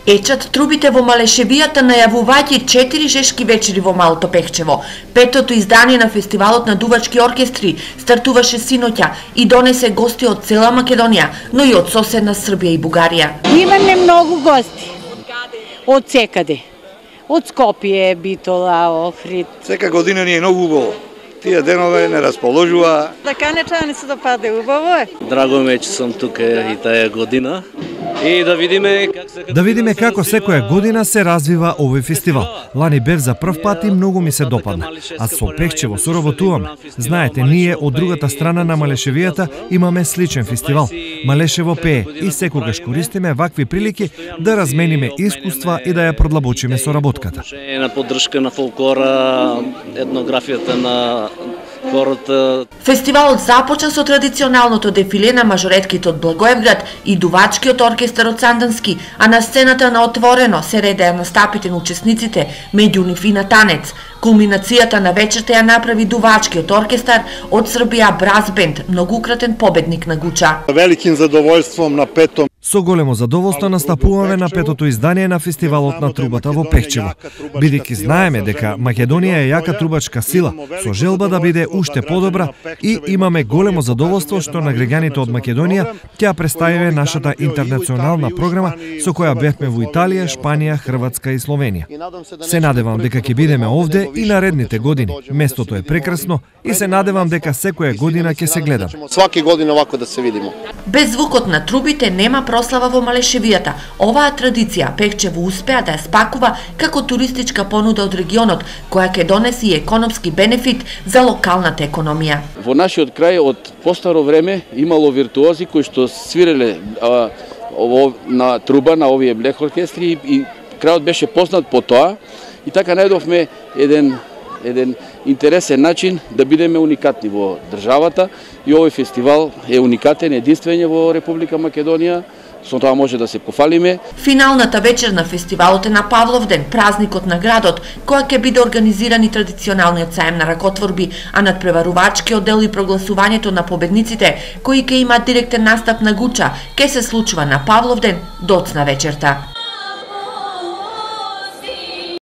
Ечат трубите во Малешевијата најавувајќи 4 жешки вечери во Малото Пехчево. Петото издание на фестивалот на дувачки оркестри стартуваше синоќа и донесе гости од цела Македонија, но и од соседна Србија и Бугарија. Имаме многу гости. Од секаде. Од Скопје, Битола, Охрид. Сека година ни е многу убаво. Тие денове не расположува. Да канечани се допаде, убаво е. Драго ме че сум тука и таа година. И да видиме како секоја година се развива овој фестивал. Лани бев за прв пат и многу ми се допадна. А со Пехчево соработуваме. Знаете, ние од другата страна на Малешевијата имаме сличен фестивал. Малешево пее и секогаш користиме вакви прилики да размениме искуства и да ја продлабочиме соработката. На поддршка на фолклора, етнографијата на хората. Фестивалот започна со традиционалното дефиле на мажоретките од Благоевград и дувачкиот оркестар од Сандански, а на сцената на отворено се редеа настапите на учесниците, меѓу нив и на танец. Кулминацијата на вечерта ја направи дувачкиот оркестар од Србија Браз Бенд, многукратен победник на Гуча. Великим задоволством на петом. Со големо задоволство настапуваме на петото издание на фестивалот на трубата во Пехчево. Бидејќи знаеме дека Македонија е јака трубачка сила, со желба да биде уште подобра и имаме големо задоволство што на граѓаните од Македонија ќе представиме нашата интернационална програма со која бевме во Италија, Шпанија, Хрватска и Словенија. Се надевам дека ќе бидеме овде и наредните години. Местото е прекрасно и се надевам дека секоја година ќе се гледам. Сваки година овако да се видимо. Без звукот на трубите нема прослава во Малешевијата. Оваа традиција Пехчево успеа да ја спакува како туристичка понуда од регионот, која ќе донеси и економски бенефит за локалната економија. Во нашиот крај од постаро време имало виртуози кои што свиреле на труба на овие блех оркестри и крајот беше познат по тоа и така најдовме еден интересен начин да бидеме уникатни во државата и овој фестивал е уникатен, единствен во Република Македонија. Со тоа може да се пофалиме. Финалната вечер на фестивалот е на Павловден, празникот на градот, која ќе биде организиран и традиционалниот саем на ракотворби, а надпреварувачкиот дел и прогласувањето на победниците, кои ќе имаат директен настап на Гуча, ќе се случува на Павловден доцна вечерта.